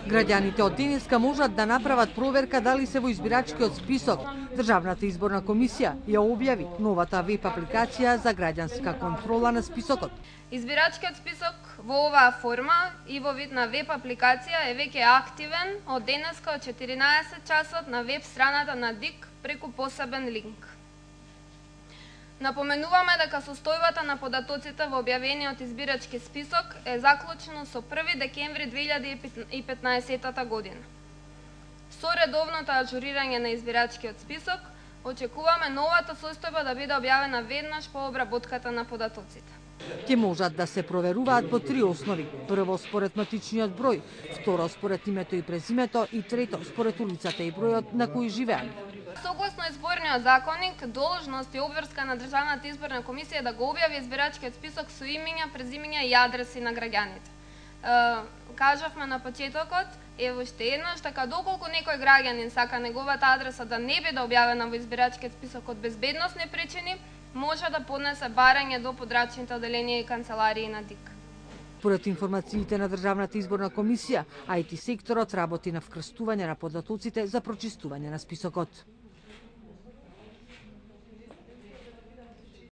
Граѓаните од денеска можат да направат проверка дали се во избирачкиот список. Државната изборна комисија ја објави новата веб апликација за граѓанска контрола на списокот. Избирачкиот список во оваа форма и во вид на веб апликација е веќе активен од денеска од 14 часот на веб страната на ДИК преку посебен линк. Напоменуваме дека состојбата на податоците во објавениот избирачки список е заклучено со 1 декември 2015 година. Со редовното аџурирање на избирачкиот список, очекуваме новата состојба да биде објавена веднаш по обработката на податоците. Ќе можат да се проверуваат по 3 основи. Прво според матичниот број, второ според името и презимето и трето според улицата и бројот на кој живеат. Согласно изборниот законник, должност и обврска на Државната изборна комисија да го објави избирачкиот список со имиња, презимиња и адреси на граѓаните. Кажавме на почетокот, ево уште еднаш, така доколку некој граѓанин сака неговата адреса да не биде објавена во избирачкиот список од безбедносни причини, може да поднесе барање до подрачните оделенија и канцеларии на ДИК. Според информациите на Државната изборна комисија, IT секторот работи на вкрстување на податоците за прочистување на списокот.